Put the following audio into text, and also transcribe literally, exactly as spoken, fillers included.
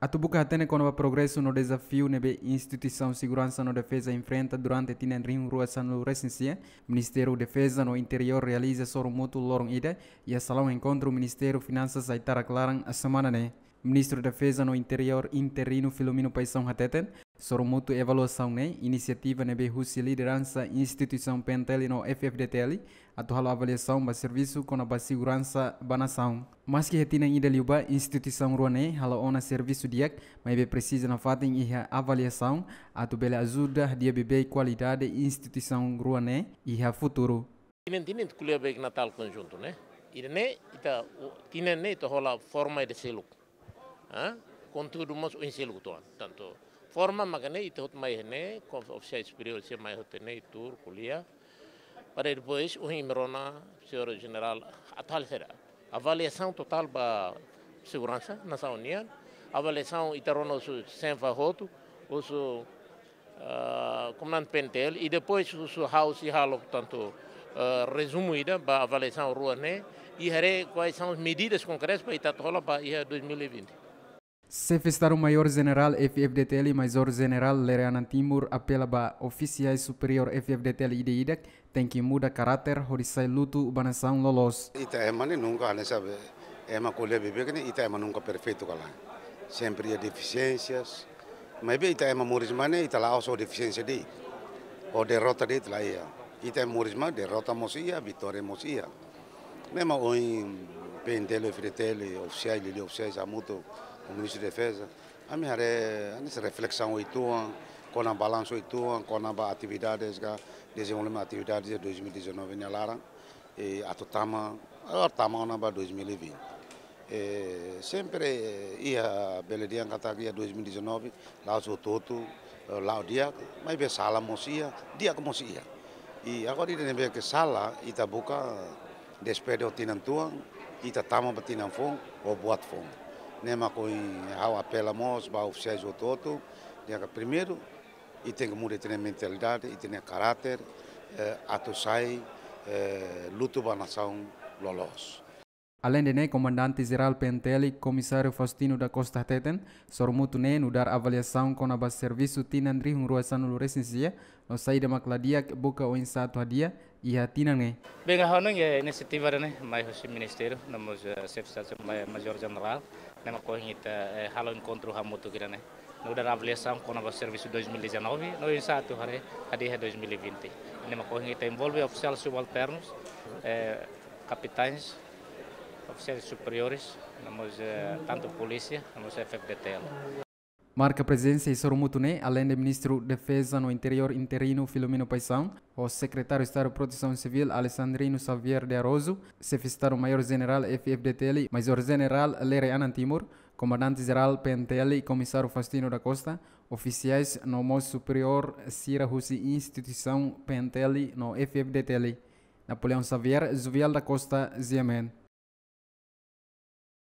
Atu buka hatene kona-ba progresu no dezafiu ne'ebé instituisaun seguransa no defeza enfrenta durante tinan rihun rua sanulu resin sia, Ministériu Defeza no Interiór realiza sorumutu loron ida iha salaun enkontru Ministériu Finansas Aitarak laran semana ne'e. Ministru Defeza no Interiór interinu Filomeno Paixão hateten, sorumutu evaluasaun ne'e inisiativa ne'ebé husi lideransa instituisaun P N T L no F F D T L atu halo avaliasaun ba servisu kona-ba seguransa ba nasaun. Maski iha tinan ida liubá instituisaun rua ne'e halo ona servisu di'ak, maibé presiza nafatin iha avaliasaun atu bele ajuda hadi'a beibeik kualidade instituisaun rua ne'e iha futuru. Tinan, tinan ita ko'alia ba Natál konjuntu ne'e. Ida-ne'e ita, tinan ne'e ita hola forma ida seluk. Ah, konteúdu mós oin seluk uitoan. Tantu forma maka ne'e ita hotu mai ne'e, kon ofisiál superiór sira mai hotu ne'e, tuur, ko'alia. Para depois, ohin imi rona, señór jenerál, atu halo saida? Avaliasaun totál ba seguransa nasaun nian. Avaliasaun ita rona husi xefe hotu, husi, ah, komandante P N T L, i depois husi ha'u sei halo, portantu, ah, rezumu ida ba avaliasaun rua ne'e, i haree quais são as medidas concretas para ita hola ba iha dois mil e vinte. Xefe Estadu Maiór Jenerál F F D T L, Maizór Jenerál Lere Anan Timur, apela ba ofisiais superiór F F D T L ida-idak tenke muda karáter hodi sai lutu ba nasaun loloos. Ita ema ne'e nunka, hanesan ema ko'alia beibeik ne'e, ita ema nunka perfeitu ka lae. Sempre iha defisiénsias. Maibé ita ema moris mai ne'e, ita la'ós ho defisiénsia de'it, ho derrota de'it la iha. Ita ema moris mai, derrota mós iha, vitória mós iha. Ne'e mak ohin P N T L, F F D T L, ofisiais, liuliu ofisiais hamutuk ho Ministru Defeza, ami haree, hanesan reflesaun uitoan, kona balansu uitoan, kona-ba atividades ka dezenvolvimentu atividades de dois mil e dezanove nia laran, i atu tama, agora tama ona ba dois mil e vinte. E sempre, eh, iha bele dehan katak iha dois mil e dezanove, la'ós hotu-hotu, eh, la'o di'ak, maibé sala mós iha, di'ak mós iha. I agora ida ne'ebé ke sala, ita buka despede ho tinan tuan, ita tama ba tinan foun, ho buat foun. Ne'e mak ohin ha'u apela mós ba ofisiais hotu-hotu, dehan katak primeiru, ita tenke muda ita-nia mentalidade, ita-nia karáter, eh, atu sai, eh, lutu ba nasaun loloos. Aleinde ne'e, Komandante Jerál P N T L, Komisáriu Faustino da Costa hateten, sorumutu ne'e nu'udar avaliasaun kona-ba servisu tinan rihun rua sanulu resin sia, no saida mak la di'ak buka oinsá atu hadi'a iha tinan ne'e. Bem, ha'u hanoin, eh, inisiativa ida-ne'e mai husi Ministériu, no mós, eh, Xefe Estadu Mai-, Maizór Jenerál, ne'e mak ohin ita, eh, halo enkontru hamutuk ida-ne'e. Nu'udar avaliasaun kona-ba servisu dois mil e dezanove, no oinsá atu haree hadi'a dois mil e vinte. Ne'e mak ohin ita envolve ofisiais subalternus, eh, kapitains, ofisiais superiores, no mós, eh, tantu polísia, no mós F F D T L. Marka prezensa iha sorumutu ne'e, aleinde Ministru Defeza no Interiór interinu Filomeno Paixão, ho Sekretáriu Estadu Protesaun Sivíl Alexandrino Xavier de Araújo, Xefe Estadu Maiór Jenerál F F D T L, Maizór Jenerál Lere Anan Timur, Komandante Jerál P N T L, Komisáriu Faustino da Costa, ofisiais no mós superiór sira husi instituisaun P N T L no F F D T L. Napoleão Xavier, Juvial da Costa, G M N.